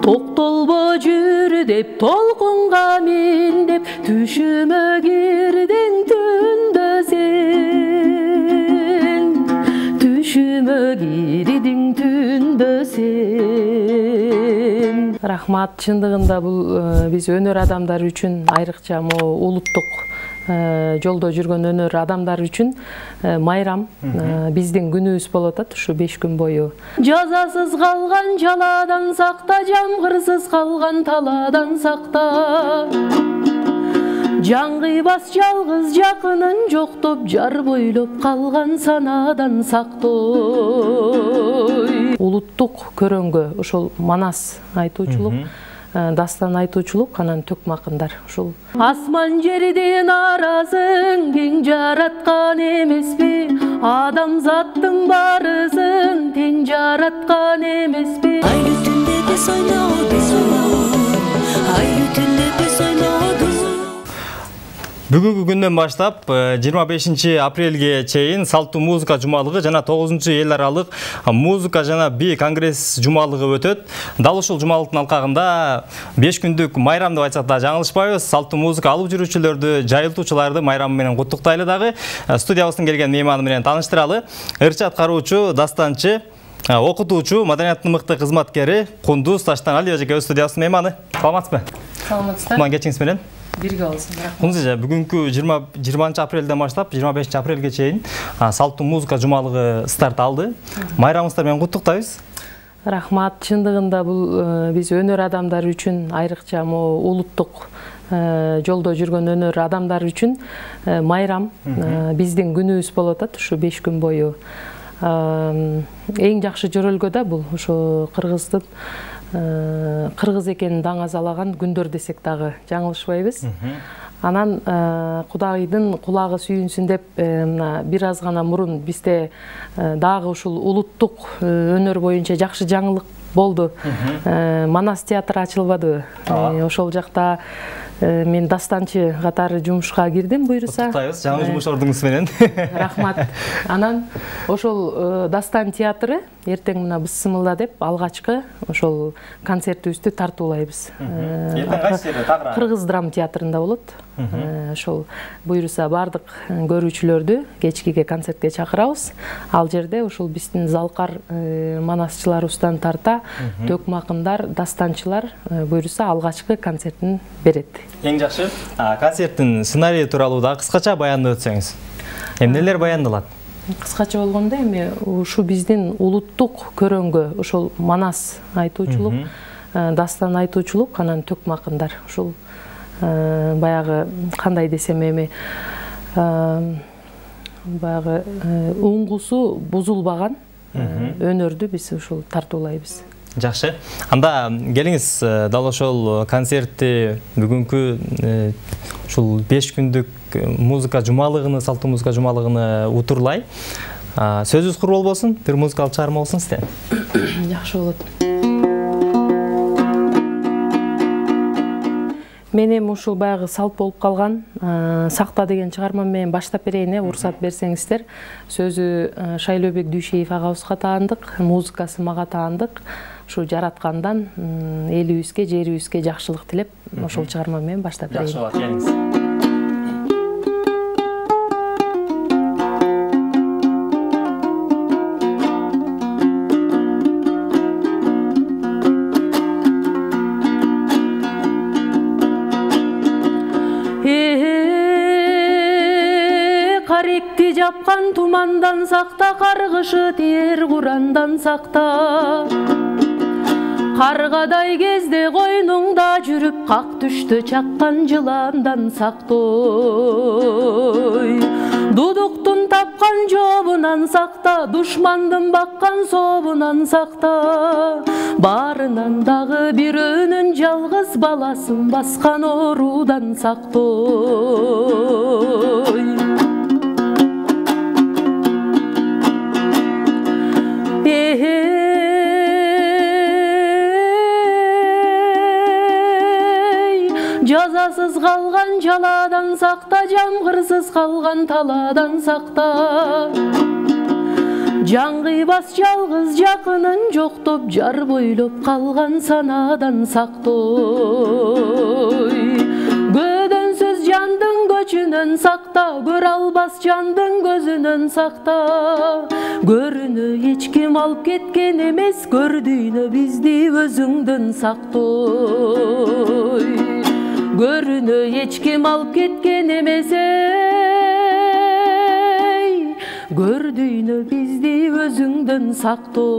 Токтолбо жүр деп толкунга мен деп түшүмө кирдиң түндө сен. Түшүмө кирдиң түндө сен. Рахмат, чындыгында бул биз өнөр адамдары үчүн айрыкча улуттук жолдо жүргөн өнөр адамдар үчүн майрам биздин күнүбүз болуп атат ушу 5 күн бою. Жазасыз калган жаладан сакта, жамгырсыз калган таладан сакта. Жан кыйбас жалгыз жакынын жоктоп, жар бойлоп калган санадан сактой. Улуттук көрөнгө ошол манас айтуучулук, дастан айтуучулук, анан төкмакындар ушул. Асман жерден аразын кең жараткан эмеспи? Адамзаттын барысын тең жараткан эмеспи? Айлы түндө биз ойнодук, айлы түндө биз ойнодук. Бүгүнкү күндөн баштап 25 апрелге чейин Салттуу музыка жумалыгы жана 9 эл аралык музыка жана би конгресс жумалыгы өтөт. Дал ушул жумалыктын алкагында 5 күндүк майрам деп айтсак да жаңылышпайбыз. Салттуу музыка алып жүрүүчүлөрдү, жайылтуучуларды майрамы менен куттуктайлы дагы. Студиябыздын келген мейманы менен тааныштыралы. Ырчы аткаруучу, дастанчы, окутуучу, маданияттын мыкты кызматкери Кундуз Таштанали эжекебиз студиябыздын мейманы. Саламатсызбы? Саламатсыздар. Кутман кечиңиз менен. Бирге болсун. Кундуз эже, бүгүнкү 20 апрелден баштап 25 апрелге чейин Салттуу музыка жумалыгы старт алды. Майрамыңыздар менен куттуктайбыз. Рахмат, чындыгында бул биз өнөр адамдары үчүн айрыкча улуттук жолдо жүргөн өнөр адамдар үчүн майрам биздин күнүбүз болуп атат ушу 5 күн бою. Эң жакшы жөрөлгө да бул ушу кыргыздын кыргыз экенин даңазалаган күндөр десек дагы жаңылышпайбыз. Анан Кудайдын кулагы сүйүнсүн деп бир аз гана мурун бизде дагы ушул улуттук өнөр боюнча жакшы жаңылык болду. Манас театры ачылбадыбы? Ошол жакта мен дастанчы катары жумушка кирдим буйруса. Куттуктайбыз, жаңы жумуш ордуңуз менен. Рахмат. Анан ошол дастан театры эртең мына Бысымылда деп алгачкы ошол концертибизди тартуулайбыз. Кыргыз драма театрында болот. Ошол буйруса бардык көрүүчүлөрдү кечкиге концертке чакырабыз. Ал жерде ушул биздин залкар манасчыларыбыздан тарта төкмакындар, дастанчылар буйруса алгачкы концертин берет. Эң жакшы. Концерттин сценарийи тууралуу да кыскача баяндап өтсөңүз. Эмнелер баяндалат? Кыскача болгондо эми ушу биздин улуттук көрөнгө ошол манас айтуучулук, дастан айтуучулук, анан төкмакындар ушул баягы кандай десем эми баягы уңгусу бузулбаган өнөрдү биз ушул тартуулайбыз. Жакшы. Анда келиңиз дал ошол концертти бүгүнкү ушул 5 күндүк музыка жумалыгыны, Салттуу музыка жумалыгыны утурлай. Сөзүбүз курбол болсун, бир музыкалык чыгарма болсун сизден. Жакшы болот. Мен эми ушул баягы салт болуп калган Сакта деген чыгарма менен баштап берейин, уруксат берсеңиздер. Сөзү Шайлообек Дүйшеев агабызга таандык, музыкасы мага таандык. Ушу жараткандан элибизге, жерибизге жакшылык тилеп, ошол чыгарма менен баштап берейин. Жакшы болот, келиңиз. Каректи жапкан тумандан сакта, каргышы тиер курандан сакта. Каргадай кезде койнуңда жүрүп, как түштө чаккан жыландан сактой. Дудуктун тапкан жобунан сакта, душмандын баккан собунан сакта. Барынан дагы бирөөнүн жалгыз баласын баскан оруудан сактой. Жазасыз калган жаладан сакта, жамгырсыз калган таладан сакта. Жан кыйбас жалгыз жакынын жоктоп, жар бойлоп калган санадан сактой. Көдөнсүз жандын көчүнөн сакта, көрө албас жандын көзүнөн сакта. Көрүнө эч ким алып кеткен эмес, көрдүйнө бизди өзүңдөн сактой. Көрүнө эч ким алып кеткен эмес, көрдүйнө бизди өзүңдөн сактой.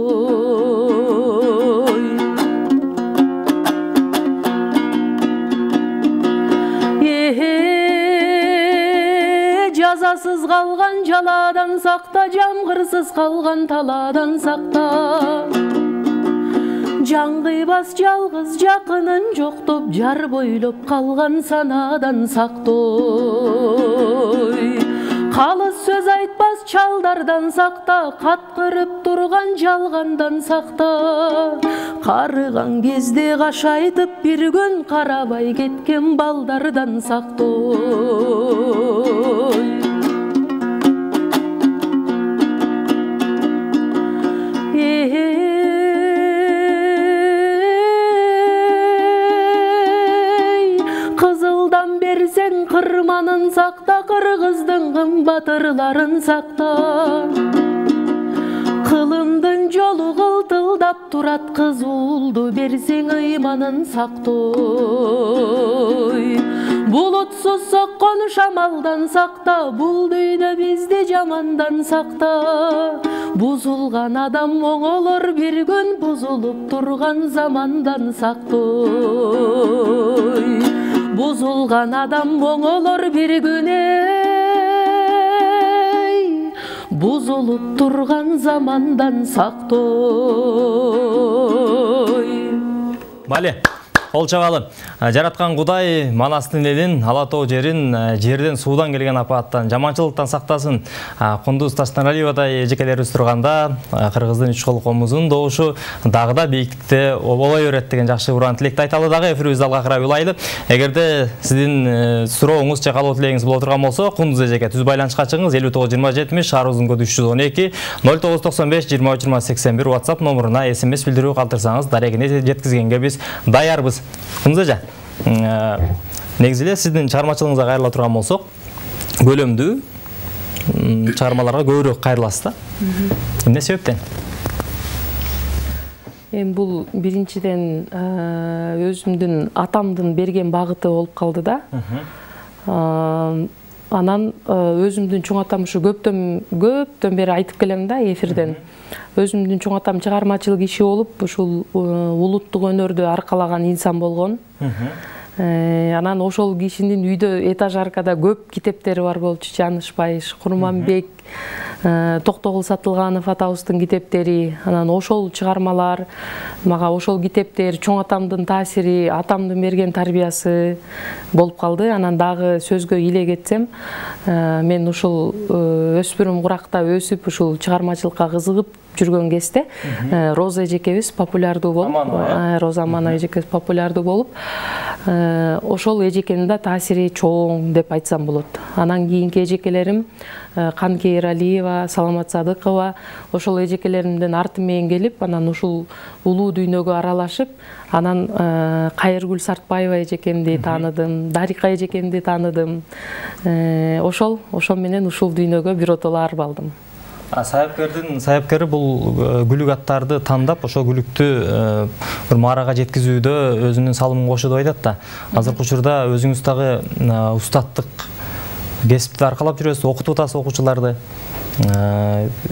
Жазасыз калган жаладан сакта, жамгырсыз калган талаадан сакта. Жан кыйбас жалгыз жакынын жоктоп, жар бойлоп калган санадан сактой. Калыс сөз айтпас чалдардан сакта, каткырып турган жалгандан сакта. Карыган кезде кашайтып бир күн, карабай кеткен балдардан сактой. Кызылдан берсең кырманын сакта, кыргыздын кымбатырларын сакта. Кылымдын жолу кылтылдап турат, кыз уулду берсең ыйманын сактой. Булутсуз соккон шамалдан сакта, бул дүйнө бизди жамандан сакта. Бузулган адам оңолор бир күн, бузулуп турган замандан сактой. Бузулган адам оңолор бир күн, бузулуп турган замандан сактой. Мале, ол чабалы. Жараткан Кудай Манастын элин, Ала Тоо жерин жерден суудан келген апааттан, жаманчылыктан сактасын. Кундуз Таштаналиевадай эжекелерибиз турганда, кыргыздын үч кол комузунун добушу дагы да бийиктикте оболой берет деген жакшы уран тилекти айталы дагы эфирибизди алга карай улайлы. Эгерде сиздин сурооңуз же каалоо тилегиңиз боло турган болсо, Кундуз эжеке түз байланышка чыгыңыз. 59-20-70 шаар узун коду 312 0995 23-81 WhatsApp номуруна SMS билдирүү калтырсаңыз, дарегине жеткизгенге биз даярбыз. Кундуз эже, негизи эле сиздин чыгармачылыгыңызга кайрыла турган болсок, көлөмдүү чыгармаларга көбүрөөк кайрыласыз да. Эмне себептен? Бул биринчиден өзүмдүн атамдын берген багыты болуп калды да. Анан өзүмдүн чоң атам ушу көптөн бери айтып келем да эфирден. Өзүмдүн чоң атам чыгармачыл киши болуп, ушул улуттук өнөрдү аркалаган инсан болгон. Анан ошол кишинин үйдө этажаркада көп китептери бар болчу. Жанышбаев, Курманбек, Токтогул Сатылганов атабыздын китептери. Анан ошол чыгармалар, мага ошол китептер, чоң атамдын таасири, атамдын берген тарбиясы болуп калды. Анан дагы сөзгө иле кетсем, мен ушул өспүрүм куракта өсүп, ушул чыгармачылыкка кызыгып жүргөн кезде Роза эжекебиз популярдуу болуп, Роза Аманова эжекебиз популярдуу болуп, ошол эжекенин да таасири чоң деп айтсам болот. Анан кийинки эжекелерим Канке Эралиева, Саламат Садыкова, ошол эжекелеримдин арты менен келип, анан ушул улуу дүйнөгө аралашып, анан Кайыргүл Сартбаева эжекемди тааныдым, Дарика эжекемди тааныдым. Ошол менен ушул дүйнөгө биротоло арбалдым. Саяпкери бул күлүк аттарды тандап, ошол күлүктү бир маарага жеткизүүдө өзүнүн салымын кошот деп айтат да. Азыркы учурда өзүңүз дагы устаттык кесипти аркалап жүрөсүз, окутуп атасыз окуучуларды.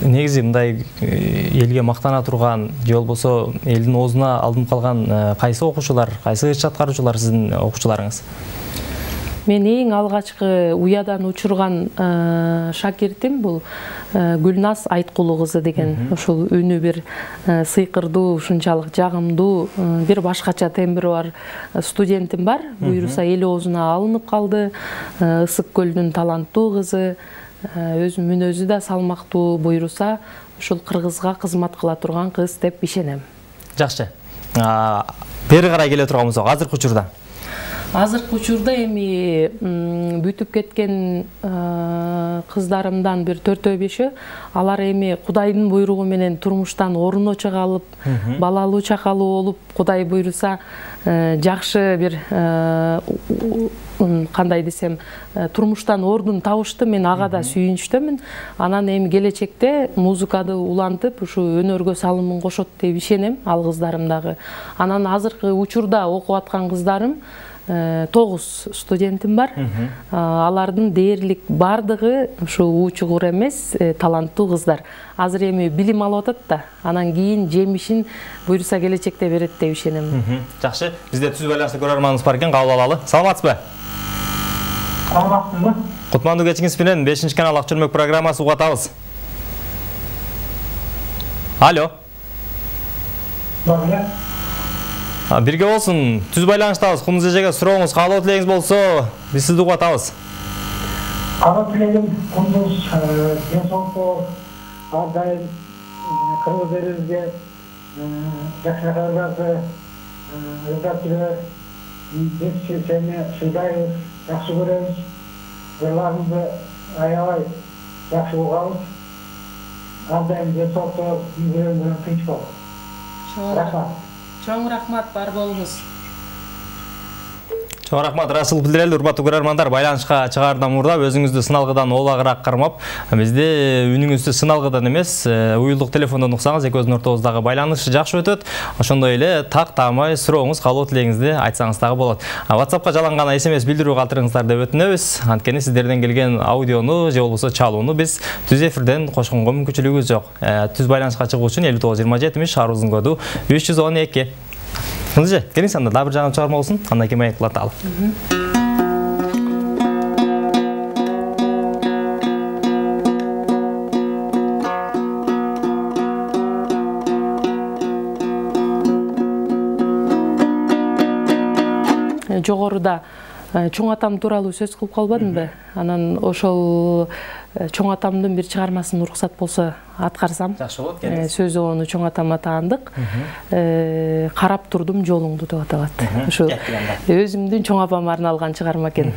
Негизи мындай элге мактана турган, же болбосо элдин оозуна алынып калган кайсы окуучулар, кайсы иш аткаруучулар сиздин окуучуларыңыз? Мен эң алгачкы уядан учурган шакиртим бул Гүлназ Айткулу кызы деген. Ушул үнү бир сыйкырдуу, ушунчалык жагымдуу, бир башкача тембри бар студентим бар. Буйруса эл оозуна алынып калды. Ысык Көлдүн таланттуу кызы, өзү мүнөзү да салмактуу, буйруса ушул кыргызга кызмат кыла турган кыз деп ишенем. Жакшы. Бери карай келе турганбыз азыркы учурда. Азыркы учурда эми бүтүп кеткен кыздарымдан бир 4-5 алар эми Кудайдын буйругу менен турмуштан орун чыгалып, балалуу чакалуу болуп, Кудай буйруса жакшы бир кандай десем, турмуштан ордун табышты. Мен ага да сүйүнүчтөмүн. Анан эми келечекте музыканы улантып, ушу өнөргө салымын кошот деп ишенем, ал кыздарым дагы. Анан азыркы учурда окуп аткан кыздарым 9 студентим бар. Алардын дээрлик бардыгы ушу уучугур эмес, таланттуу кыздар. Азыр эми билим алып атат да, анан кийин жемишин буйруса келечекте берет деп ишенем. Жакшы, бизде түз байланышта көрөрманыбыз бар экен, кабыл алалы. Саламатсызбы? Саламатсызбы? Кутмандуу кечиңиз менен 5-канал Ак Чөлмөк программасы угуп атабыз. Алло. Бар. Бирге болсун, түз байланыштабыз. Кумуз эжеге сурооңуз, каалоо тилегиңиз болсо, биз сизди угуп атабыз. Каалоо тилегим кумуз денсаулыкты ар дайым кыргыздарыбызга жакшы кабарларды редакторлор биз сени сыйдайбыз, жакшы көрөбүз. Ырларыңызды аябай жакшы угабыз. Ар дайым денсаулыкты үйрөнүп тынч болуп. Рахмат. Чоң рахмат, бар болуңуз. Чоң рахмат, ырайчылык билдирели, урматтуу көрөрмандар. Байланышка чыгаардан мурда өзүңүздү сыналгыдан олагыраак кармап, бизде үнүңүздү сыналгыдан эмес, уюлдук телефондон уксаңыз, экөөбүздүн ортобуздагы байланыш жакшы өтөт. Ошондой эле таамай сурооңуз, каалоо тилегиңизди айтсаңыз дагы болот. WhatsAppка жаланган SMS билдирүү калтырыңыздар деп өтүнөбүз. Анткени сиздерден келген аудиону же болбосо чалууну биз түз эфирден кошконго мүмкүнчүлүгүбүз жок. Түз байланышка чыгуу үчүн 59 арузун коду 312. Мынже, келиңиз анда дагы бир жаңы чыгарма болсун, андан кийин маек кылаталы. Жогоруда чоң атам тууралуу сөз кылып калбадымбы? Анан ошол чоң атамдын бир чыгармасын уруксат болсо аткарсам. Жакшы болот, келиңиз. Сөзү ону чоң атама таандык. Карап турдум жолуңду деп аталат. Ушу өзүмдүн чоң апама арналган чыгарма экен.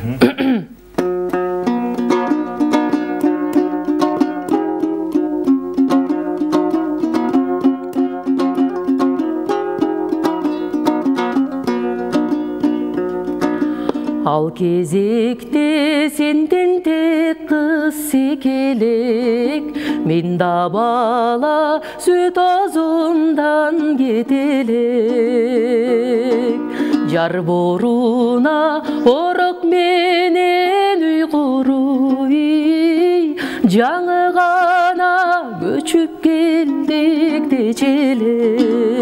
Ал кезекте сенден тек кыз секелек, мен да бала сүт азымдан кетелек. Жар боруна орок менен уйгуру, жаңы гана көчүп келдик дечелек.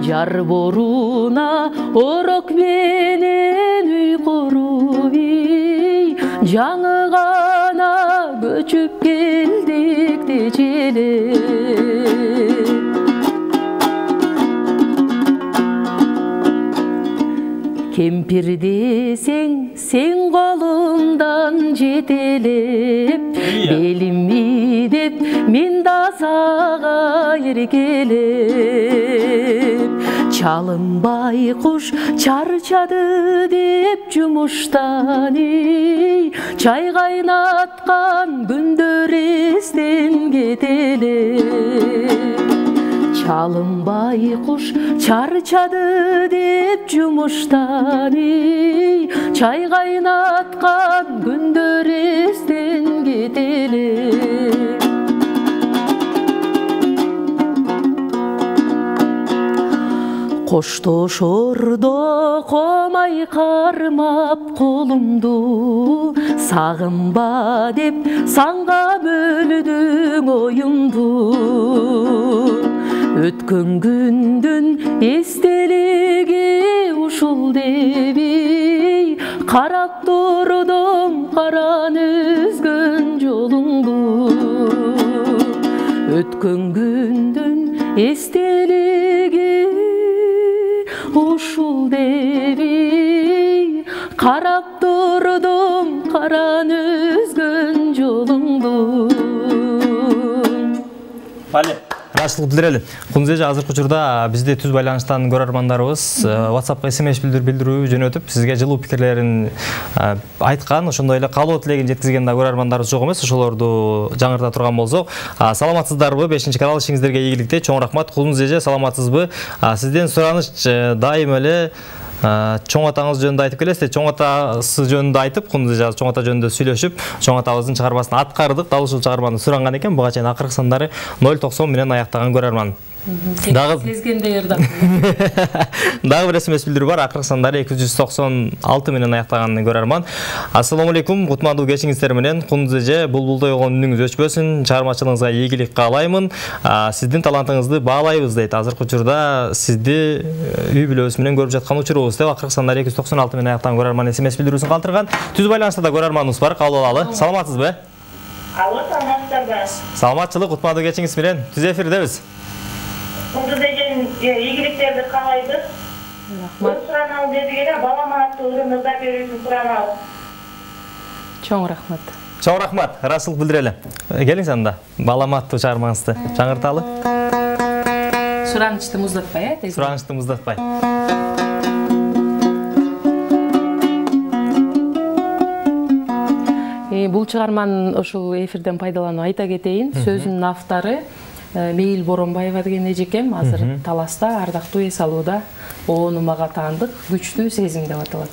Жар боруна орок менен уйгуру, жаңы гана көчүп келдик дечелек. Кемпир десең, сен колумдан жетелеп, белимми деп мен да сага эркелеп. Чалынбай куш чарчады деп жумуштан, чай кайнаткан күндөр эстен кетелеп. Чалынбай куш чарчады деп жумуштан, чай кайнаткан күндөр эстен кетелек. Коштошордо комай кармап колумду, сагынба деп санга бөлдүң оюмду. Өткөн күндүн эстелиги ушул деби, карап турдум караны үзгөн жолуңду. Өткөн күндүн эстелиги ушул деби, карап турдум караны үзгөн жолуңду. Бале, Жакшылык билдирели. Кунуз эже, азыркы учурда бизде түз байланыштан көрөрмандарыбыз WhatsAppка SMS билдирүү жөнөтүп, сизге жылуу пикирлерин айткан, ошондой эле каалоо тилегин жеткизген да көрөрмандарыбыз жок эмес. Ошолорду жаңырта турган болсок, саламатсыздарбы? 5-канал ишиңиздерге ийгиликте. Чоң рахмат. Кунуз эже, саламатсызбы? Сизден сураныч дайым эле чоң атаңыз жөнүндө айтып келесиз. Чоң атасы жөнүндө айтып, Кунуз эже чоң ата жөнүндө сүйлөшүп, чоң атабыздын чыгармасын аткардык. Дал ушул чыгарманы суранган экен. Буга чейин акыркы сандары 090 менен аяктаган көрөрман. Сезгендей ырдап. Дагы бир SMS билдирүү бар. Акыркы сандары 296 менен аяктаган көрөрман. Ассаламу алейкум. Кутмандуу кечиңиздер менен. Кунуз эже, булбулдой болгон үнүңүз өчпөсүн. Чыгармачылыгыңызга ийгилик каалаймын. Сиздин талантыңызды баалайбыз дейт. Азыркы учурда сизди үй бүлөбүз менен көрүп жаткан учурубуз деп акыркы сандары 296 менен аяктаган көрөрман SMS билдирүүсүн калтырган. Түз байланышта да көрөрманыбыз бар. Кабыл алалы. Саламатсызбы? Алло, саламатсыздарбы? Саламатчылык, кутмандуу кечиңиз менен. Түз эфирдебиз. Кунуз эже, ийгиликтерди каалайбыз. Рахмат. Сураналы дедигеле, балама аттуу ырымызда берүүсүн сураналы. Чоң рахмат. Чоң рахмат. Ырашылык билдирели. Келиңиз анда. Балама аттуу чыгармаңызды жаңырталы. Суранычты муздатпай, Суранычты муздатпай. Бул чыгарманын ушул эфирден пайдаланып айта кетейин. Сөзүнүн автору Мейил Боронбаева деген эжекем. Азыр Таласта, ардактуу эс алууда. Ону мага таандык күчтүү сезим деп аталат.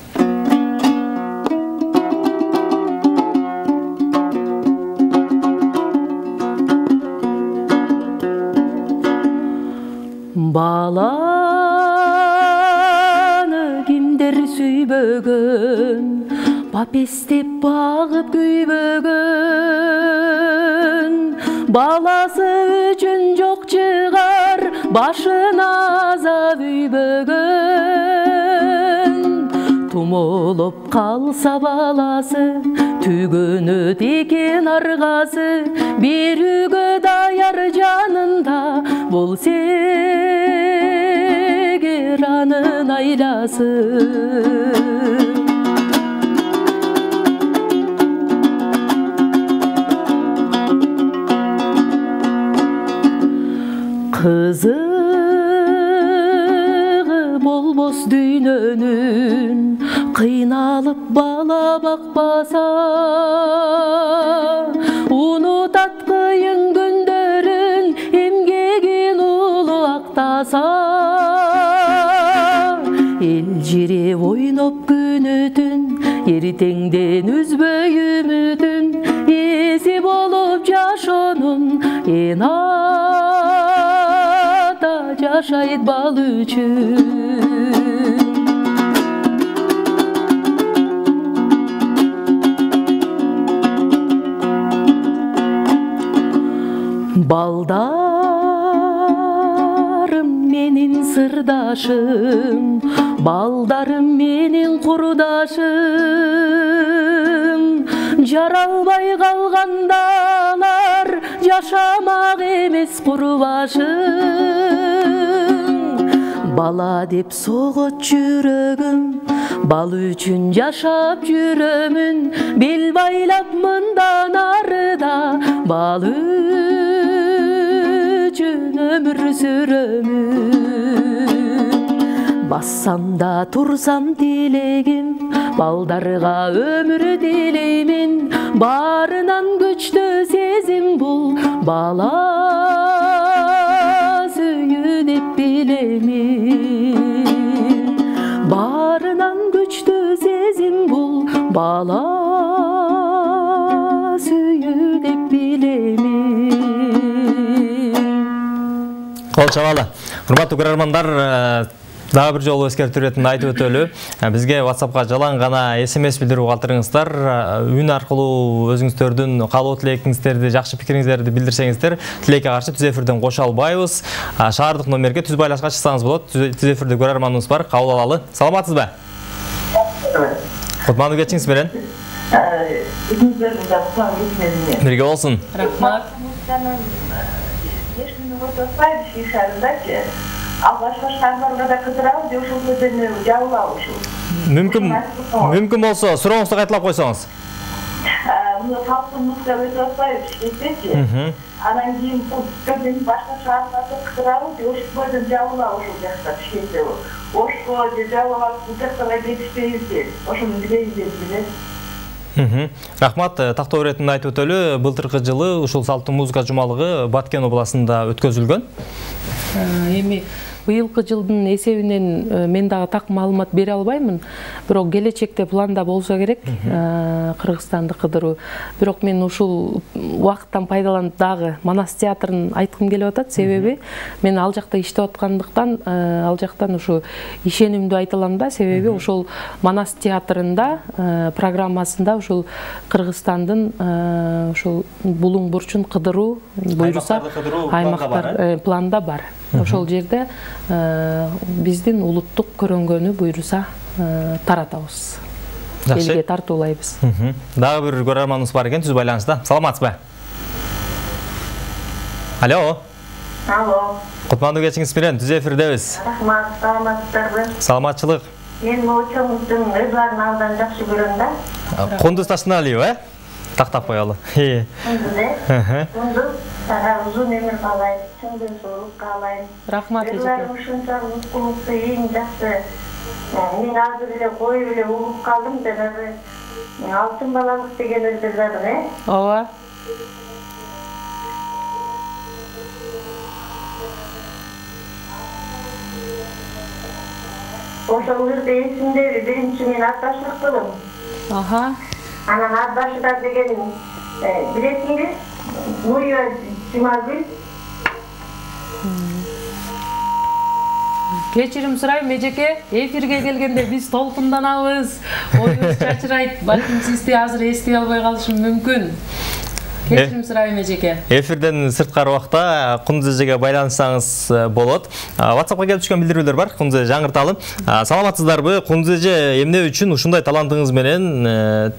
Баланы кимдер сүйбөгөн, папестеп багып күйбөгөн, баласы үчүн жок чыгар, башына азап үйбөгөн. Тумолоп калса баласы, түгөнөт экен аргасы, берүүгө даяр жанында болсо эгер анын айласы. Кызыгы болбос дүйнөнүн, кыйналып бала бакпаса, унутат кыйын күндөрүн, эмгегин улуу актаса. Эл жиреп ойноп күнөтүн, эртеңден үзбөй үмүтүн, эси болуп жашоонун эн ата жашайт бал үчүн. Балдарым менин сырдашым, балдарым менин курдашым, жаралбай калгандалар жашамак эмес курбашым. Бала деп согот жүрөгүм, бал үчүн жашап жүрөмүн, бел байлап мындан арыда бал үчүн өмүр сүрөмүн. Бассам да турсам тилегим, балдарга өмүр тилеймин, баарынан күчтүү сезим бул бала сүйүү деп билемин. Баарынан күчтүү сезим бул бала сүйүү деп билемин. Кол чабалы. Урматтуу көрөрмандар, дагы бир жолу эскертүү иретинде айтып өтөлү. Бизге WhatsAppка жалаң гана SMS билдирүү калтырыңыздар. Үн аркылуу өзүңүздөрдүн каалоо тилегиңиздерди, жакшы пикириңиздерди билдирсеңиздер, тилекке каршы түз эфирден кошо албайбыз. Шаардык номерге түз байлашка чыксаңыз болот. Түз эфирде көрөрманыбыз бар, кабыл алалы. Саламатсызбы? Кутмандуу кечиңиз менен. Бирге болсун. Рахмат. Ал башка да кыдырабыз, ошол сөздөрүнү жабылабы ушул. Мүмкүн болсо сурооңузду кайталап койсоңуз. мына салттуу музыка өтүп атпайбы Бишкектечи. Анан кийин бул көбүн башка шаарларда кыдырабыз, Ошкойдон жабылабы ошол жакта Бишкекте. Ошко же жабылабы бул жактарга кетишпейбиз. Ошону билебиз деп билет. Рахмат, тактоо иретинде айтып өтөлү, былтыркы жылы ушул салттуу музыка жумалыгы Баткен областында өткөзүлгөн. Эми быйылкы жылдын эсебинен мен дагы так маалымат бере албаймын, бирок келечекте планда болсо керек Кыргызстанды кыдыруу. Бирок мен ушул убакыттан пайдаланып дагы Манас театрын айткым келип атат, себеби мен ал жакта иштеп аткандыктан, ал жактан ушу ишенимдүү айта алам да, себеби ошол Манас театрында программасында ушул Кыргызстандын ушул булуң бурчун кыдыруу буйруса аймактар планда бар. Ошол жерде биздин улуттук көрөнгөнү буйруса таратабыз. Элге тартуулайбыз. Дагы бир көрөрманыбыз бар экен, түз байланышта. Саламатсызбы? Алло. Алло. Кутмандуу кечиңиз менен түз эфирдебиз. Рахмат, саламатсыздарбы? Саламатчылык. Мен моучоңуздун өздөрүн абдан жакшы көрөм да. Кундуз Ташыналиева, тактап коелу. Кундуз узун өмүр каалайм, чын денсаулык каалайм. Рахмат эжеке. Ушунчалык муткулукту эң жакшы. Мен азыр эле коюп эле угуп калдым, жанагы алтын балалык деген өздөрүн, Ооба. Ошол жерде эсимдеби, биринчи мен атташлык кылдым. Анан атташыдар деген билесиңби? Нуя Жумагүл. Кечирим сурайм эжеке, эфирге келгенде биз толкунданабыз, оюбуз чачырайт, балким сизди азыр эстей албай калышым мүмкүн. Кечирим сурайм эжеке. Эфирден сырткары убакта Кундуз эжеге байланышсаңыз болот. WhatsAppка келип түшкөн билдирүүлөр бар, Кундуз эже жаңырталы. Саламатсыздарбы? Кундуз эже, эмне үчүн ушундай талантыңыз менен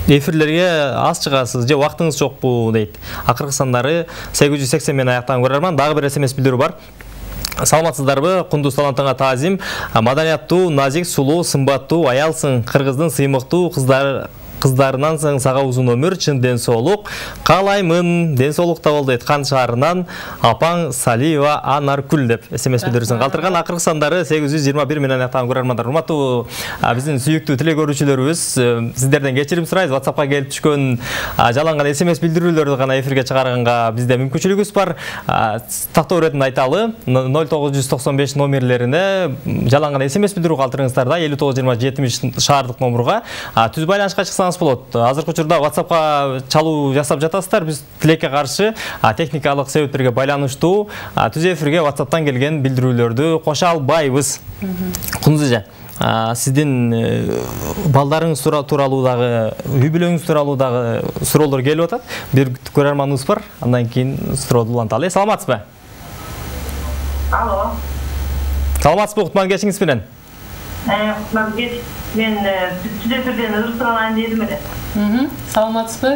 эфирлерге аз чыгасыз же убактыңыз жокпу дейт. Акыркы сандары 880 менен аяктаган көрөрман. Дагы бир SMS билдирүү бар. Саламатсыздарбы? Кундуз талантыңа таазим. Маданияттуу, назик, сулуу, сымбаттуу аялсың. Кыргыздын сыймыктуу кыздарынан соң сага узун өмүр, чын денсаулык каалаймын. Денсаулукта бол дейт. Кан шаарынан апаң Салиева Анаркүл деп SMS билдирүүсүн калтырган. Акыркы сандары 821 менен аяктаган көрөрмандар. Урматтуу биздин сүйүктүү тилек көрүүчүлөрүбүз, сиздерден кечирим сурайбыз. WhatsAppка келип түшкөн жаланган SMS билдирүүлөрдү гана эфирге чыгарганга бизде мүмкүнчүлүгүбүз бар. Тактоо иретинде айталы, 0995 номерлерине жаланган SMS билдирүү калтырыңыздар да, 592070 шаардык номурга түз байланышка чыксаңыз болот. Азыркы учурда WhatsAppка чалуу жасап жатасыздар. Биз тилекке каршы техникалык себептерге байланыштуу түз эфирге WhatsApp'тан келген билдирүүлөрдү кошо албайбыз. Кундуз эже, сиздин балдарыңыз тууралуу дагы, үй бүлөңүз тууралуу дагы суроолор келип атат. Бир көрөрманыбыз бар, андан кийин суроону уланталы. Саламатсызбы? Алло. Саламатсызбы? Кутман кечиңиз менен. Кутман кеч. Мен түз эфирден ырсыралайын дедим эле. Саламатсызбы?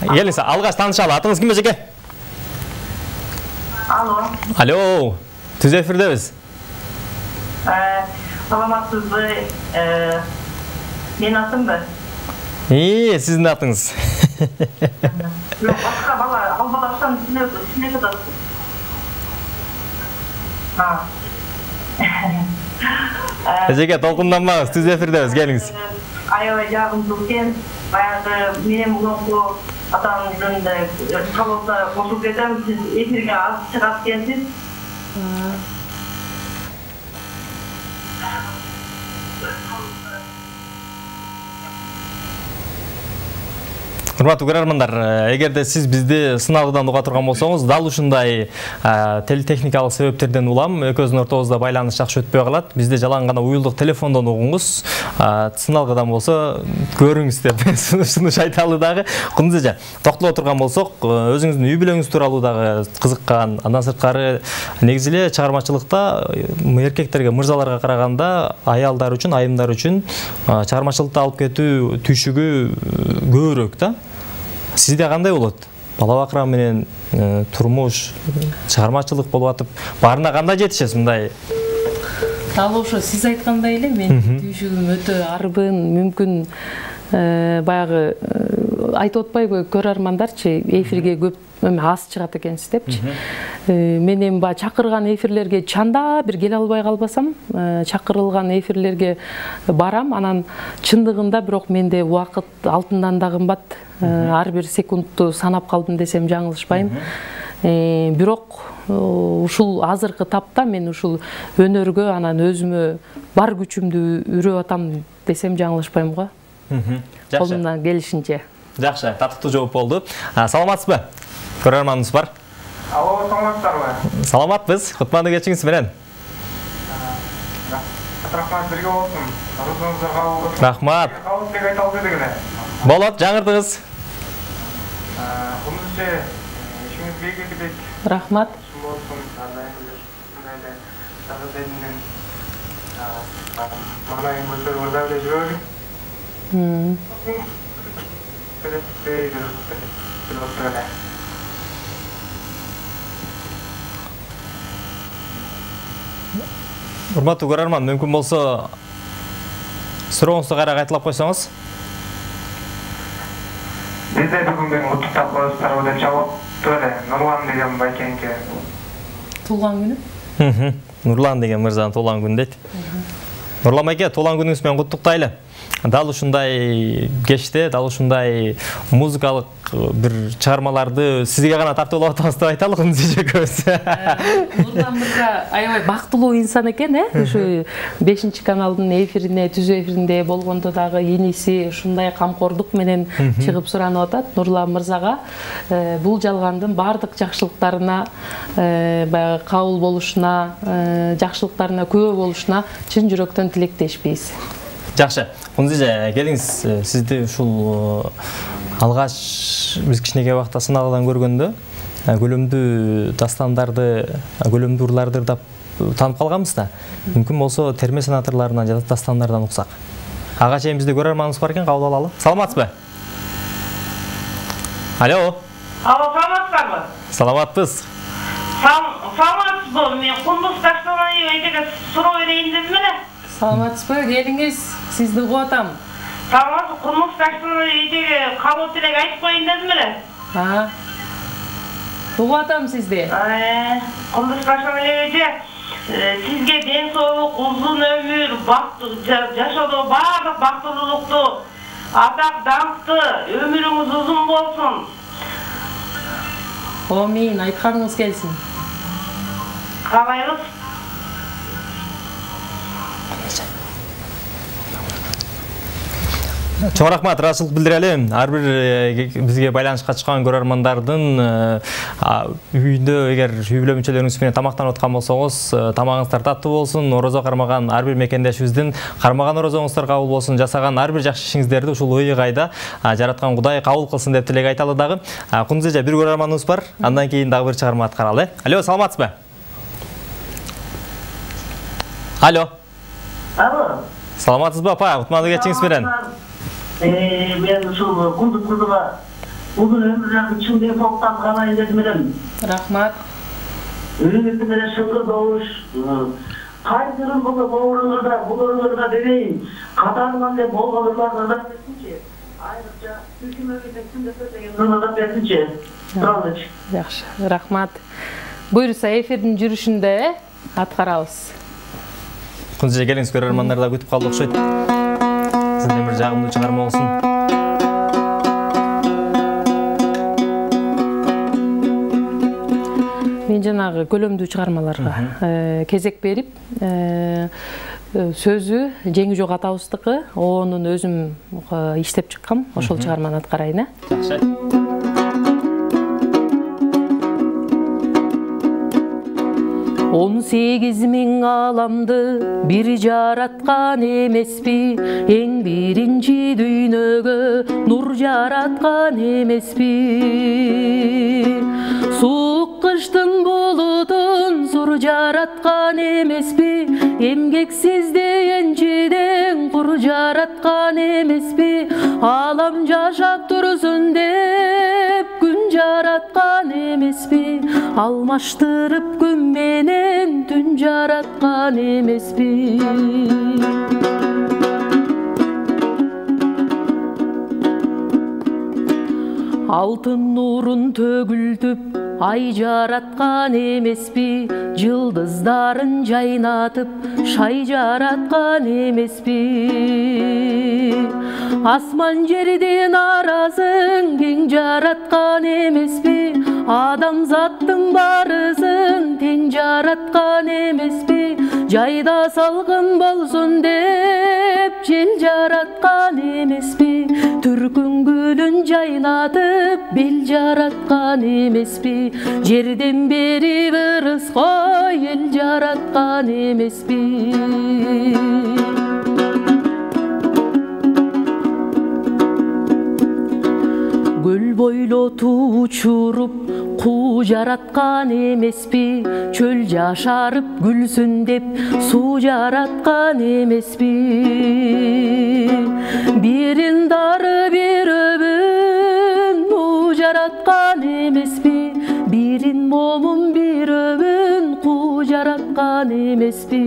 Келиңиз, алгаш таанышалы. Атыңыз ким эжеке? Алло. Алло, түз эфирдебиз. Саламатсызбы? Мен атымбы? Сиздин атыңыз. Жок, башка бала, ал балаштан сине жатат. Эжеке, толкунданмаңыз, түз эфирдебиз, келиңиз. Аябай жагымдуу экен. Баягы менен мурунку атамдын кабылда кошуп кетем, сиз эфирге аз чыгат экенсиз. Урматтуу көрөрмандар, эгерде сиз бизди сыналгыдан уга турган болсоңуз, дал ушундай техникалык себептерден улам экөөбүздүн ортобузда байланыш жакшы өтпөй калат. Бизде жалаң гана уюлдук телефондон угуңуз, сыналгыдан болсо көрүңүз деп сунуш айталы дагы. Кундуз эже, токтоло турган болсок, өзүңүздүн үй бүлөңүз тууралуу дагы кызыккан, андан сырткары негизи эле чыгармачылыкта эркектерге, мырзаларга караганда аялдар үчүн, айымдар үчүн чыгармачылыкта алып кетүү түйшүгү көбүрөөк да. Сизде кандай болот? Бала бакыраа менен турмуш, чыгармачылык болуп атып, баарына кандай жетишесиз мындай? Ал ошо сиз айткандай эле, мен түйшүгүм өтө арбын, мүмкүн баягы айтып атпайбы көрөрмандарчы эфирге көп аз чыгат экенсиз депчи. Мен эми баягы чакырган эфирлерге чанда бир келе албай калбасам, чакырылган эфирлерге барам, анан чындыгында бирок менде убакыт алтындан да кымбат. Ар бир секундту санап калдым десем жаңылышпайм. Бирок ушул азыркы тапта мен ушул өнөргө анан өзүмө бар күчүмдү үрөп атам десем жаңылышпайм го. Колумдан келишинче. Жакшы, татыктуу жооп болду. Саламатсызбы? Көрөрманыбыз бар. Алло, саламатсыздарбы? Саламатпыз. Кутмандуу кечиңиз менен. Рахмат, бирге болсун. Арызыңызга кабыл болсун. Рахмат. Кабыл деп айта албайт эле. Болот, жаңырдыңыз. Кумузчу, ишиңиз бейгилдик. Рахмат. Болсун, мындай тазадендин маңайын көтөрүп да эле жүрөлү. Урматтуу көрөрман, мүмкүн болсо сурооңузду кайра кайталап койсоңуз. Бизде бүгүн мен куттуктап коесуздар деп жаптыр эле. Нурлан деген байкеңке. Туулган күнү? Нурлан деген мырзанын туулган күнү дейт. Нурлан байке, туулган күнүңүз менен куттуктайлы. Дал ушундай кечте, дал ушундай музыкалык бир чыгармаларды сизге гана тартуулап атабыз деп айталы экөөбүз. Нурлан мырза аябай бактылуу инсан экен, ушу 5-каналдын эфирине, түзүү эфиринде болгондо дагы иниси ушундай камкордук менен чыгып суранып атат. Нурлан мырзага бул жалгандын бардык жакшылыктарына, баягы кабыл болушуна, жакшылыктарына күбө болушуна чын жүрөктөн тилектешпейбиз. Жакшы. Кунзиже, келиңиз, сизди ушул алгач биз кичинекей убакта сыналгыдан көргөндө көлөмдүү дастандарды, көлөмдүү урларды ырдап таанып калганбыз да. Мүмкүн болсо терме санаторлорунан жана дастандардан уксак. Ага чейин бизде көрөрманыбыз бар экен, кабыл алалы. Саламатсызбы? Алло. Алло, саламатсыздарбы? Саламатпыз. Саламатсызбы? Мен Кундуз Таштанай эйтеге суроо берейин дедим эле. Саламатсызбы? Келиңиз, сизди угуп атам. Саламатсыз, Кундуз Таштанай эйтеге кабыл тилек айтып коеюн дедим эле. Угуп атам сизди. Кундуз Таштанай эйте, сизге ден соолук, узун өмүр, жашоодо баардык бактылуулукту, атак даңкты, өмүрүңүз узун болсун. Амин, айтканыңыз келсин. Каалайбыз. Чоң рахмат, ыраазычылык билдирели. Ар бир бизге байланышка чыккан көрөрмандардын үйүндө эгер үй бүлө мүчөлөрүңүз менен тамактанып аткан болсоңуз, тамагыңыздар таттуу болсун. Орозо кармаган ар бир мекендешибиздин кармаган орозоңуздар кабыл болсун, жасаган ар бир жакшы ишиңиздерди ушул ыйык-айда жараткан Кудай кабыл кылсын деп тилек айталы дагы. Кунзеже, бир көрөрманыбыз бар. Андан кийин дагы бир чыгарма аткаралы. Алло, саламатсызбы? Алло. Алло. Саламатсызбы, апа? Кутмандуу кечиңиз менен. Мен ушул Кундуз мырзага узун өмүр жагын чын денсаулыктан каалайын дедим элем. Рахмат. Үйүңүздү менен шыңгыр добуш, кайсырын булуруңузда берейин, катарынан деп болгонуларга да берсинчи. Айрыкча үкмөткө текин деген да берсинчи. Туралычы. Жакшы, рахмат. Буйруса эфирдин жүрүшүндө аткарабыз. Кунзеже, келиңиз, көрөрмандар да күтүп калды окшойт. Сизден бир жагымдуу чыгарма болсун. Мен жанагы көлөмдүү чыгармаларга кезек берип, сөзү Жеңи жок атабыздыкы, оонун өзүм иштеп чыккам, ошол чыгарманы аткарайын. Жакшы. 18.000 аламды бир жараткан эмеспи, эң биринчи дүйнөгө нур жараткан эмеспи. Суук кыштын булутун сур жараткан эмеспи, эмгексизди энчиден кур жараткан эмеспи. Алам жашап турсун деп күн жараткан эмеспи, алмаштырып күн менен түн жараткан эмеспи. алтын нурун төгүлтүп ай жараткан эмеспи, жылдыздарын жайнатып шай жараткан эмеспи. Асман жерден аразын кең жараткан эмеспи, адамзаттын барысын тең жараткан эмеспи. Жайда салкын болсун деп жел жараткан эмеспи, түркүн гүлүн жайнатып бел жараткан эмеспи. Жерден бери ырыской эл жараткан эмеспи. Көл бойлоту учуруп куу жараткан эмеспи, чөл жашарып күлсүн деп суу жараткан эмеспи. Бирин дары бирөбүн уу жараткан эмеспи, бирин момун бирөбүн куу жараткан эмеспи.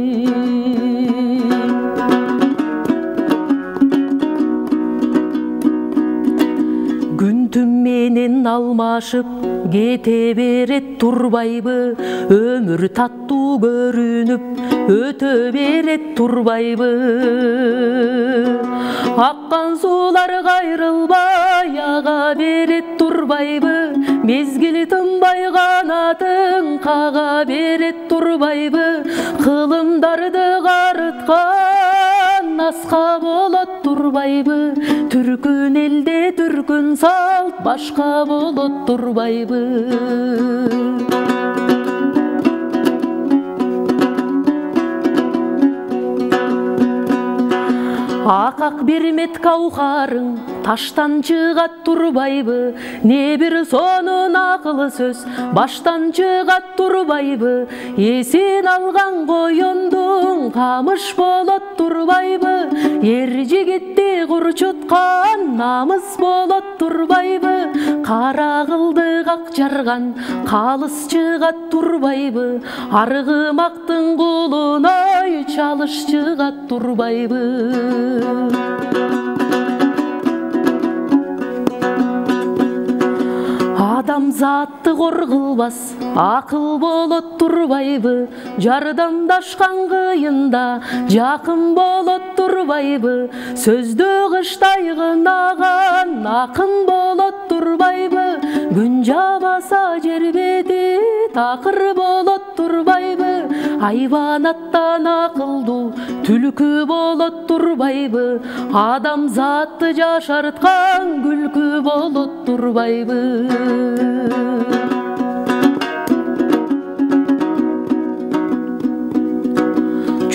Күн түн менен алмашып кете берет турбайбы, өмүр таттуу көрүнүп өтө берет турбайбы. Аккан суулар кайрылбай ага берет турбайбы, мезгил тынбай канатын кага берет турбайбы. Кылымдарды карыткан аска болот турбайбы, түркүн элде түркүн салт башка болот турбайбы. Акак бир мет каухарың таштан чыгат турбайбы, не бир сонун акыл сөз баштан чыгат турбайбы. Эсин алган коёндуң камыш болот турбайбы, эр жигитти курчуткан намыс болот турбайбы. Кара кылдык ак жарган калыс чыгат турбайбы, аргымактын кулуной чалыш чыгат турбайбы. Адамзатты кор кылбас акыл болот турбайбы, жардамдашкан кыйында жакын болот турбайбы. Сөздө кыштай кынаган акын болот турбайбы, күн жабаса жер бети такыр болот турбайбы. Айванаттан акылдуу түлкү болот турбайбы, адамзатты жашарткан күлкү болот турбайбы.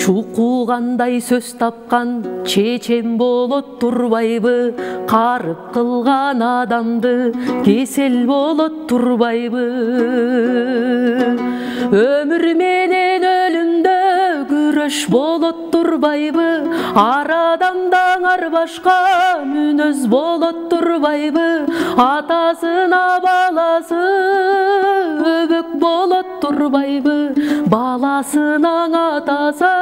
Чукугандай сөз тапкан чечен болот турбайбы, карып кылган адамды кесел болот турбайбы. Өмүр менен өлүмдө күрөш болот турбайбы, ар адамдан ар башка мүнөз болот турбайбы. Атасына баласы өбөк болот турбайбы, баласынын атасы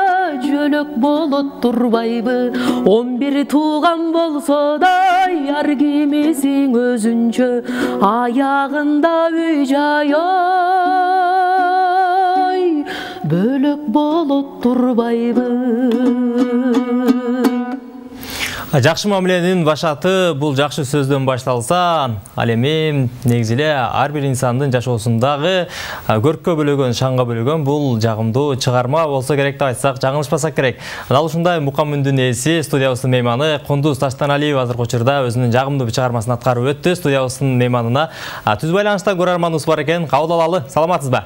жөлөк болот турбайбы. 11 тууган болсо да ар кимисин өзүнчө, аягында үй жай бөлөк болот турбайбы. Жакшы мамиленин башаты бул жакшы сөздөн башталса, ал эми негизи эле ар бир инсандын жашоосундагы көрккө бөлөгөн, шаңга бөлөгөн бул жагымдуу чыгарма болсо керек деп айтсак жаңылышпасак керек. Дал ушундай мукам-үндүн ээси, студиябыздын мейманы Кундуз Таштаналиева азыркы учурда өзүнүн жагымдуу чыгармасын аткарып өттү. Студиябыздын мейманына түз байланышта көрөрманыбыз бар экен. Кабыл алалы. Саламатсызбы?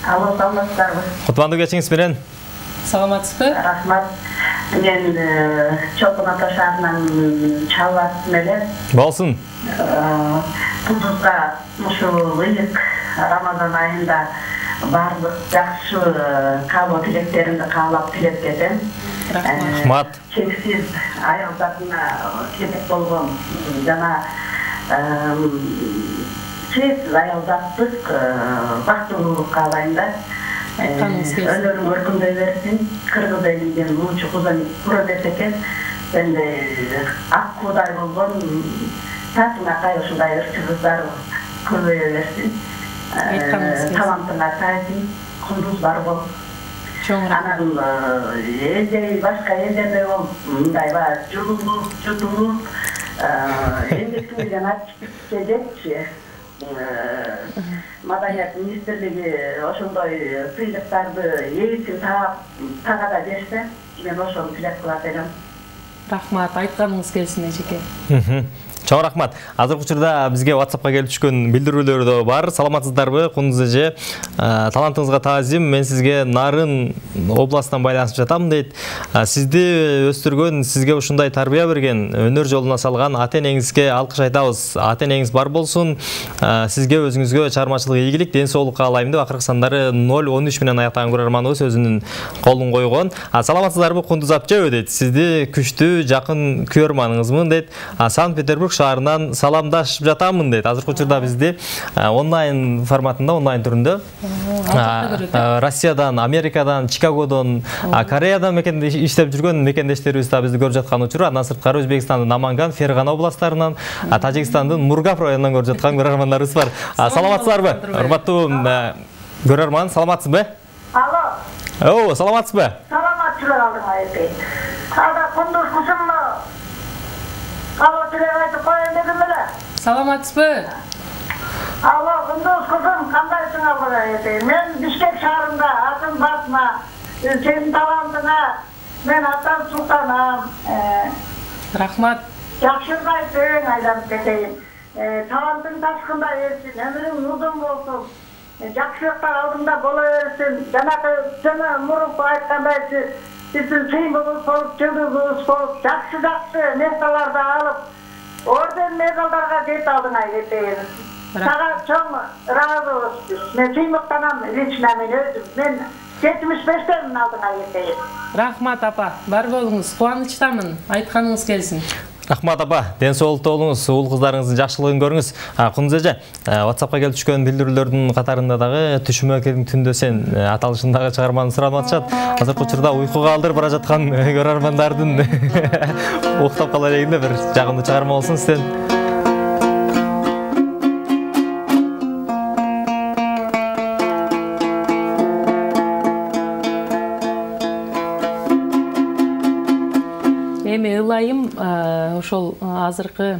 Алло, саламатсыздарбы? Кутмандуу кечиңиз менен. Саламатсызбы? Рахмат. Мен Чолпон Ата шаарынан чалбасым эле. Болсун. Кундузга ушул ыйык Рамазан айында барлык жакшы каалоо тилектеримди каалап тилеп кетем. Рахмат. Чексиз аял затына керек болгон жана чексиз аял заттык бактылуулук каалайм да. Өнөрүң өркүндөй берсин. Кыргыз элинин мунчу куру десе экен. Энди ак куудай болгон Татыңа ушундай ырчыбыздар көбөйө берсин. Талантыңа тайсын, кундуз бар бол. Анан башка элдерде бол мындай жутулуп эмгектүүлүгүн ачып жетчи. Маданият министрлиги ошондой сыйлыктарды ээсин тагада берсе, мен ошону тилеп кылат элем. Рахмат, айтканыңыз келсин эжеке. Чоң рахмат. Азыркы учурда бизге WhatsApp'ка келип түшкөн билдирүүлөр да бар. Саламатсыздарбы, Кундуз эже? Талантыңызга таазим. Мен сизге Нарын областынан байланышып жатам дейт. Сизди өстүргөн, сизге ушундай тарбия берген, өнөр жолуна салган ата-энеңизге алкыш айтабыз. Ата-энеңиз бар болсун. Сизге өзүңүзгө чыгармачылык ийгилик, ден соолук каалайм деп акыркы сандары 013 менен аяктаган көрөрманыбыз өзүнүн колун койгон. Саламатсыздарбы, Кундуз апча дейт. Сизди күчтүү, жакын көрөрманыңызмын дейт. Санкт-Петербург шаарынан саламдашып жатамын дейт. Азыркы учурда бизди онлайн форматында, онлайн түрүндө Россиядан, Америкадан, Чикагодон, Кореядан иштеп жүргөн мекендештерибиз да бизди көрүп жаткан учур. Андан сырткары Өзбекстандын Наманган, Фергана областарынан, Тажикстандын Мургап районунан көрүп жаткан көрөрмандарыбыз бар. Саламатсыздарбы? Урматтуу көрөрман, саламатсызбы? Алло. Саламатсызбы? Саламатчылык алдыңа айтайын. Ада Кундуз кызымны Алло, тилек айтып коеюн дедим эле. Саламатсызбы? Алло, Кундуз кызым, кандайсың алдыга айтайын. Мен Бишкек шаарында атын басма, сенин талантыңа мен аттан султанам. Рахмат. Жакшы айтсаң айланып кетейин. Талантың ташкында эрсин, өмүрүң узун болсун. Жакшылыктар алдыңда боло берсин. Жанагы жана мурунку айткандай Bizim sıyımımız olup, cıldızımız olup, jakşı medallarda alıp, orden medallarga jet aldığına geteyim. Sağa çok razı olsun. Men sıyımıktanam, lично men özüm. Men 75'ten aldığına geteyim. Rahmat apa, бар болуңуз, кубанычтамын, айтканыңыз келсин. Рахмат апа, ден соолукта болуңуз, уул кыздарыңыздын жакшылыгын көрүңүз. Кундуз эже, WhatsApp'ка келип түшкөн билдирүүлөрдүн катарында дагы Түшүмө келиң түндө сен аталышындагы чыгарманы сурап атышат. Азыркы учурда уйкуга алдырып бара жаткан көрөрмандардын уктап кала элегинде бир жагымдуу чыгарма болсун сизден. Эми ылайым ошол азыркы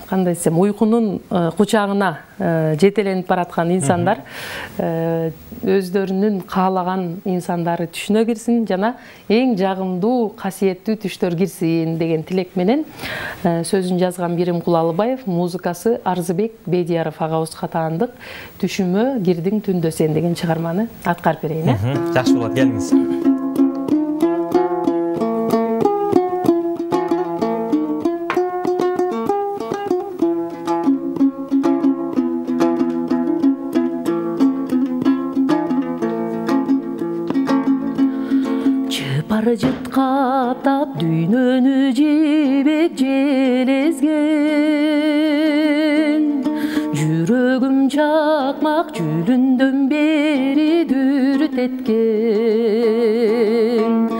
кандай десем, уйкунун кучагына жетеленип бараткан инсандар өздөрүнүн каалаган инсандары түшүнө кирсин жана эң жагымдуу касиеттүү түштөр кирсин деген тилек менен сөзүн жазган Бирим Кулалыбаев, музыкасы Арзыбек Бедияров агабызга таандык Түшүмө кирдиң түндө сен деген чыгарманы аткарып берейин. Жакшы болот, келиңиз. Жыт каптап дүйнөнү жебек железген, жүрөгүм чакмак жүлүндөн бери дүрүтеткен.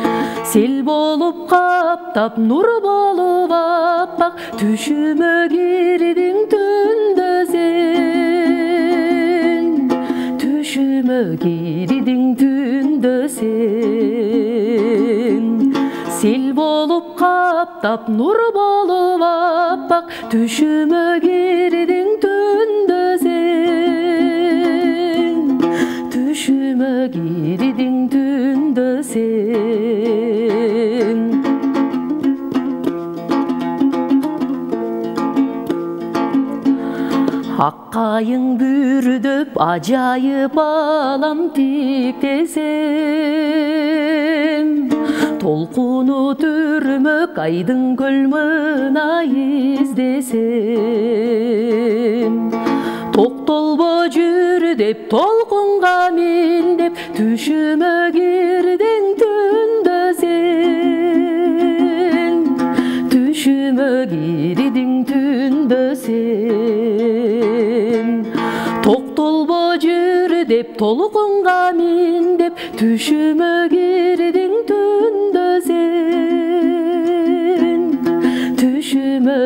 Сел болуп каптап, нур болуп аппак, түшүмө кирдиң түндө сен. Түшүмө кирдиң түндө сен. Сел болуп каптап, нур болуп аппак, түшүмө кирдиң түндө сен. Түшүмө кирдиң түндө сен. Аккайың бүрдөп, ажайып алам тиктесем, толкуну түрмөк айдын көлмына издесем. Токтолбо жүр деп, толкунга мин деп, түшүмө кирдиң түндө сен. Түшүмө кирдиң түндө сен. Токтолбо жүр деп, толкунга мин деп, түшүмө кирдиң түндө сен. Түшүмө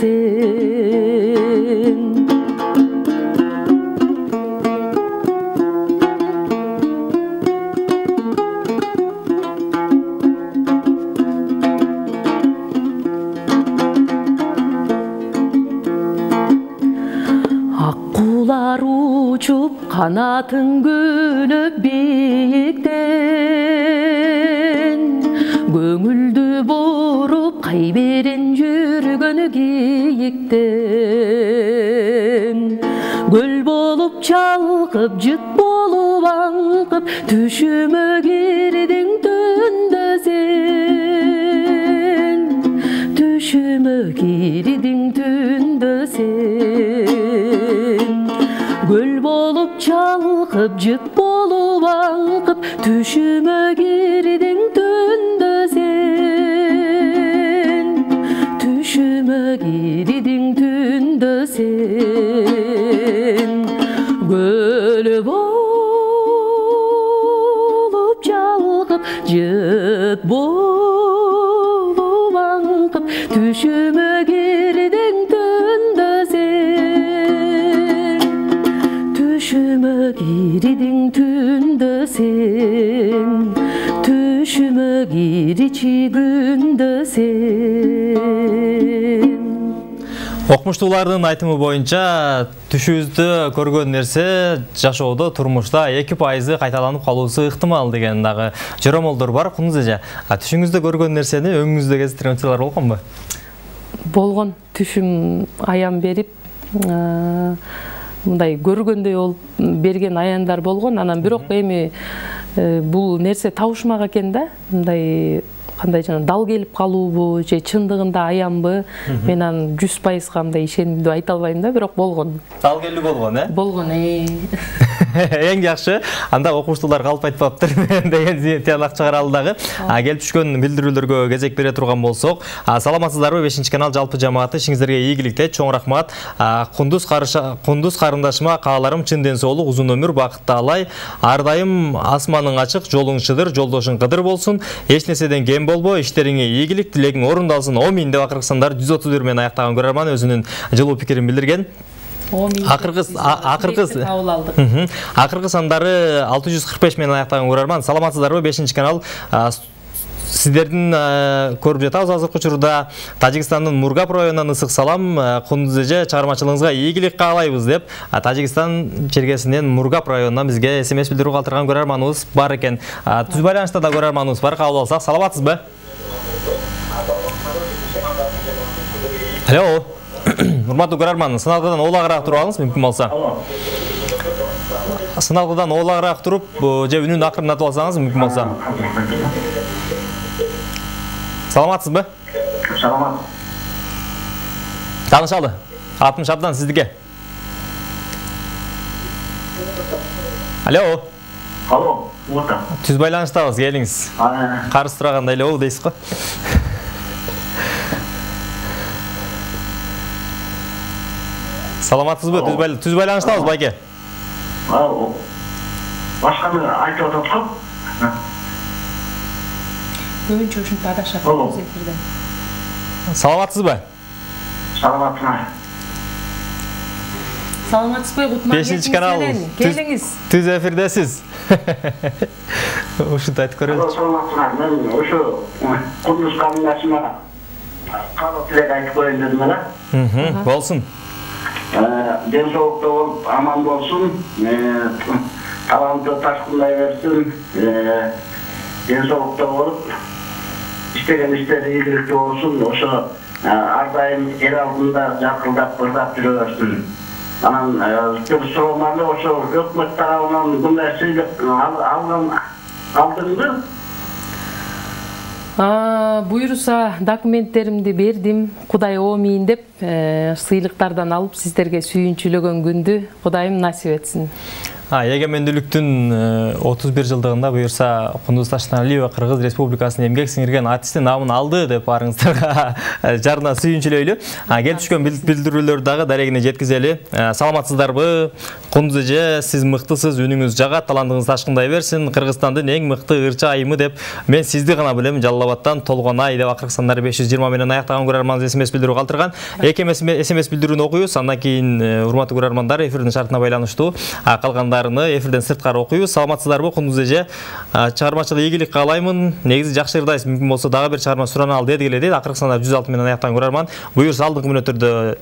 сен. Аккулар учуп канатын көнөп бийиктен, көңүлдү буруп кайберен жүргөнү кийиктен. Көл болуп чалкып, жыт болуп аңкып, түшүмө кирдиң түндө сен. Түшүмө кирдиң түндө сен. Көл болуп чалкып, жыт болуп аңкып, түшүмө кирдиң түндө сен. Түшүмө кирдиң түндө сен. Көл болуп чалкып, жыт болуп аңкып, түшүмө кирдиң түндө сен. Түшүмө кирдиң түндө сен. Түшүмө кирчи күндө сен. Окумуштуулардын айтымы боюнча түшүбүздө көргөн нерсе жашоодо, турмушта 2% кайталанып калуусу ыктымал деген дагы жоромолдор бар. Кунуз эже, түшүңүздө көргөн нерсени өңүңүздө кезиктирген учурлар болгонбу? Болгон. Түшүм аян берип, мындай көргөндөй болуп берген аяндар болгон. Анан бирок эми бул нерсе табышмак экен да. Мындай кандай жана дал келип калуубу же чындыгында аянбы? Мен анын 100% мындай ишенимдүү айта албайм да, бирок болгон. Дал келүү болгон, Болгон. Эң жакшы. Анда окумуштуулар калп айтпаптыр деген тыянак чыгаралы дагы. Келип түшкөн билдирүүлөргө кезек бере турган болсок, саламатсыздарбы? 5-канал жалпы жамааты ишиңиздерге ийгилик тилейт. Чоң рахмат. Кундуз карындашыма кааларым чын ден соолук, узун өмүр, бакытты алай. Ар дайым асманың ачык, жолуң чыдыр, жолдошуң кыдыр болсун. Эч нерседен кем болбо, иштериңе ийгилик, тилегиң орундалсын. Омин деп акыркы сандар 131 менен аяктаган көрөрман өзүнүн жылуу пикирин билдирген. Акыркы сандары 645 менен аяктаган көрөрман. Саламатсыздарбы? 5-канал сиздердин көрүп жатабыз азыркы учурда. Тажикстандын Мургап районунан ысык салам. Кундуз эже, чыгармачылыгыңызга ийгилик каалайбыз деп Тажикстан чергесинен Мургап районунан бизге СМС билдирүү калтырган көрөрманыбыз бар экен. Түз байланышта да көрөрманыбыз бар. Кабыл алсак, саламатсызбы? Алло. Урматтуу көрөрман, сыналгыдан олагыраак туруп алыңыз, мүмкүн болсо. Сыналгыдан олагыраак туруп, же үнүн акырынатып алсаңыз, мүмкүн болсо. Саламатсызбы? Саламат. Таанышалы. Атым Шабдан, сиздике. Алло. Алло, орта. Түз байланыштабыз, келиңиз. Карыз турагандай эле дейсиз го. Саламатсызбы? Түз байланыштабыз, байке. Башканы айтып атат. Көбүнчө ушинтип адашат эфирден. Саламатсызбы? Саламатсызбы. Саламатсызбы? 5-канал. Келиңиз. Түз эфирдесиз. Ушинтип айтып көрөлүчү. Саламатсызбы. Мен ошо Кундуз карындашыма каалоо тилек айтып коеюн дедим эле. Болсун. Ден соолукта болуп, аман болсун. Таланты ташкындай берсин. Ден соолукта болуп, иштеген иштери ийгиликтүү болсун. Ошо ар дайым эл алдында жаркылдап, бырдап жүрө берсин. Анан суроомду ошо өкмөт тарабынан мындай сыйлык алдыңбы? Буйруса документтеримди бердим. Кудай омин деп сыйлыктардан алып сиздерге сүйүнчүлөгөн күндү Кудайым насип этсин. Эгемендүүлүктүн 31 жылдыгында буюрса Кундуз Таштаналиева Кыргыз Республикасынын эмгек сиңирген артисти наамын алды деп барыңыздарга жарына сүйүнчүлөйлү. Келип түшкөн билдирүүлөрдү дагы дарегине жеткизели. Саламатсыздарбы? Кундуз эже, сиз мыктысыз, үнүңүз жагат, талантыңыз ташкындай берсин. Кыргызстандын эң мыкты ырча айымы деп мен сизди гана билем. Жалал Абадтан Толгонай деп акыркы сандары 520 менен аяктаган көрөрманыбыз СМС билдирүү калтырган. Эки СМС билдирүүнү окуйбуз. Андан кийин урматтуу көрөрмандар эфирдин шартына байланыштуу калгандарыны эфирден сырткары окуйбуз. Саламатсыздарбы Кундуз эже? Чыгармачылык ийгилик каалаймын. Негизи жакшы ырдайсыз. Мүмкүн болсо дагы бир чыгарма сурана ал дедигиле дейт. Акыркы сандар 106 менен аяктаган көрөрман. Буюрса алдыңкы мүнөттөрдө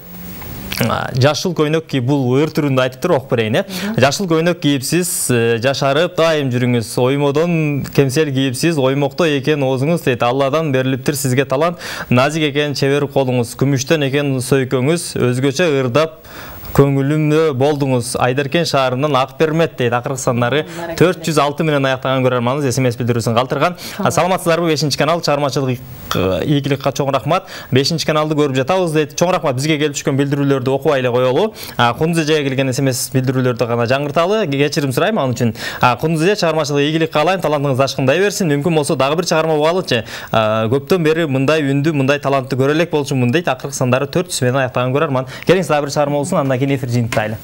жашыл көйнөк кийип, бул ыр түрүндө айтыптыр, окуп берейин. Жашыл көйнөк кийипсиз, жашарып дайым жүрүңүз. Оймодон кемсел кийипсиз, оймокто экен оозуңуз дейт. Алладан берилиптир сизге талант. Назик экен чебер колуңуз, күмүштөн экен сөйкөңүз, өзгөчө ырдап көңүлүмдө болдуңуз. Айдаркен шаарынан Ак Бермет дейт. Акыркы сандары 406 менен аяктаган көрөрманыбыз СМС билдирүүсүн калтырган. Саламатсыздарбы? 5-чи канал чыгармачылык ийгиликке чоң рахмат. 5-чи каналды көрүп жатабыз дейт. Чоң рахмат. Бизге келип түшкөн билдирүүлөрдү окубай эле коелу. Кундуз эжеге келген СМС билдирүүлөрдү гана жаңырталы. Кечирим сурайм ал үчүн. Кундуз эже, чыгармачылык ийгилик каалайм, талантыңыз ташкындай берсин. Мүмкүн болсо дагы бир чыгарма болалычы. Көптөн бери мындай үндү, мындай талантты көрө элек болчумун дейт. Акыркы сандары 400 менен аяктаган көрөрман. Келиңиз дагы бир чыгарма болсун, андан эфир жыйынтайлы.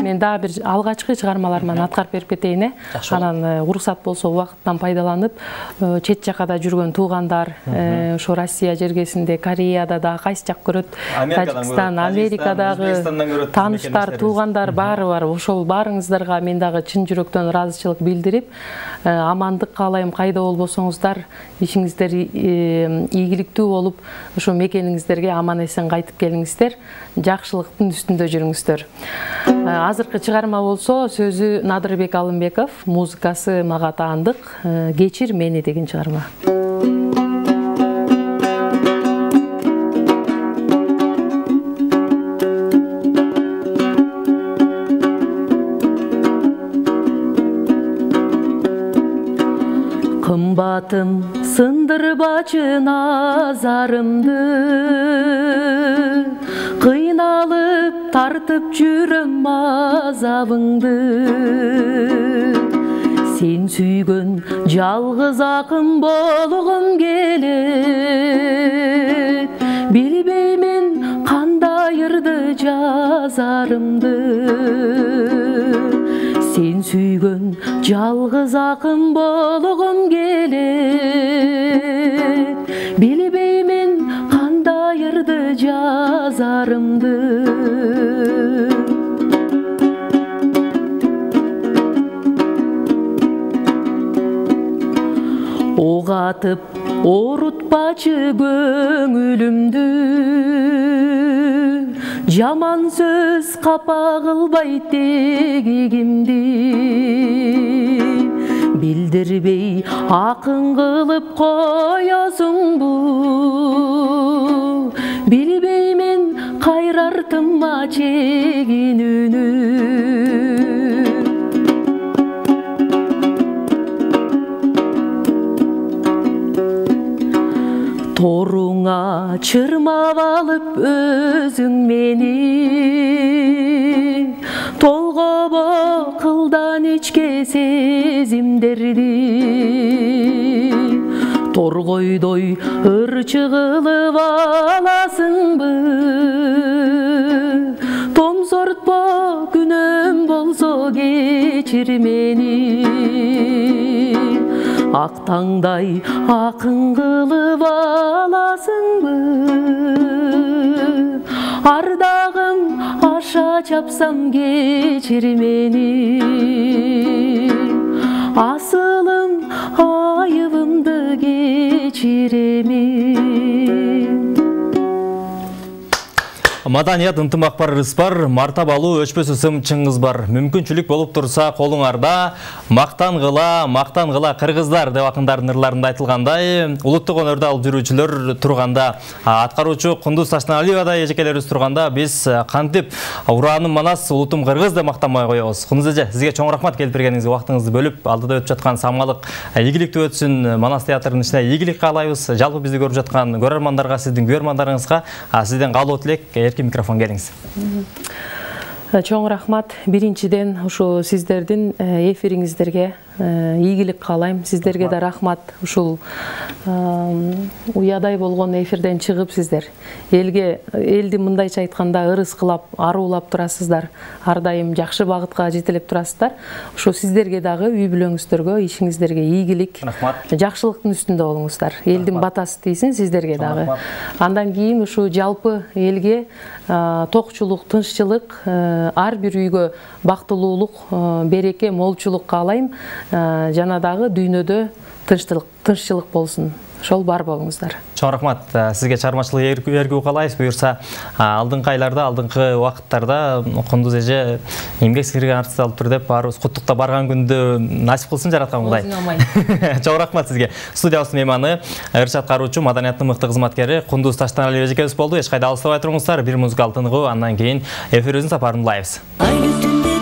Мен дагы бир алгачкы чыгармаларыман аткарып берип кетейин. Анан уруксат болсо убакыттан пайдаланып, чет жакада жүргөн туугандар, ошо Россия жергесинде, Кореяда да кайсы жак көрөт, Тажикстан, Америкадагы тааныштар, туугандар баары бар. Ошол баарыңыздарга мен дагы чын жүрөктөн ыраазычылык билдирип, амандык каалайм. Кайда болбосоңуздар, ишиңиздер ийгиликтүү болуп, ошо мекениңиздерге аман эсен кайтып келиңиздер. Жакшылыктын үстүндө жүрүңүздөр. Азыркы чыгарма болсо, сөзү Надырбек Алымбеков, музыкасы мага таандык. Кечир мени деген чыгарма. Кымбатым сындырбачы назарымды, кыйналып тартып жүрөм азабыңды. Сен сүйгөн жалгыз акын болгум келет, билбеймин кандай ырды жазарымды. Сен сүйгөн жалгыз акын болгум келет, билбеймин кандай ырды жазарымды. Ок атып орутпачы көңүлүмдү, жаман сөз капа кылбайт тегигимди. Билдирбей акын кылып коесуңбу, билбеймин кайрартымма чегинүүнү. Торуңа чырмап алып өзүң мени, толгобо кылдан ичке сезимдерди. Торгойдой ырчы кылып аласыңбы, томсортпо күнөөм болсо кечир мени. Ак таңдай акын кылып аласыңбы, ардагым аша чапсам кечир мени. Асылым айыбымды кечиремин. Маданият ынтымак бар, ырыс бар, мартабалуу өчпөс ысым чыңгыз бар. Мүмкүнчүлүк болуп турса колуңарда, мактангыла кыргыздар деп акындардын ырларында айтылгандай, улуттук өнөрдү алып жүрүүчүлөр турганда, аткаруучу Кундуз Таштаналиевадай эжекелерибиз турганда, биз кантип урааным манас, улутум кыргыз деп мактанбай коебуз. Кундуз эже, сизге чоң рахмат келип бергениңизге, убактыңызды бөлүп, алдыда өтүп жаткан самалык ийгиликтүү өтсүн, Манас театрынын ичинде ийгилик каалайбыз. Жалпы бизди көрүп жаткан көрөрмандарга, сиздин күйөрмандарыңызга сизден каалоо тилек, эркин микрофон келиңиз. Чоң рахмат. Биринчиден ушу сиздердин эфириңиздерге ийгилик каалайм. Сиздерге да рахмат. Ушул уядай болгон эфирден чыгып сиздер элди мындайча айтканда ырыс кылап, аруулап турасыздар. Ар дайым жакшы багытка жетелеп турасыздар. Ошо сиздерге дагы үй бүлөңүздөргө, ишиңиздерге ийгилик, жакшылыктын үстүндө болуңуздар. Элдин батасы тийсин сиздерге дагы. Андан кийин ушу жалпы элге токчулук, тынччылык, ар бир үйгө бактылуулук, береке, молчулук каалайм. Жана дагы дүйнөдө тынччылык болсун. Ошол бар болуңуздар. Чоң рахмат. Сизге чыгармачылык эргүү каалайбыз. Буюрса, алдыңкы айларда, алдыңкы убакыттарда Кундуз эже эмгек сиңирген артист алып тур деп баарыбыз куттуктап барган күндү насип кылсын жараткан Кудай. Чоң рахмат сизге. Студиябыздын мейманы, ырчы аткаруучу, маданияттын мыкты кызматкери Кундуз Таштаналиева эжекебиз болду. Эч кайда алыстабай туруңуздар. Бир музыкалык тыныгуу, андан кийин эфирибиздин сапарын улайбыз. Айлы түндө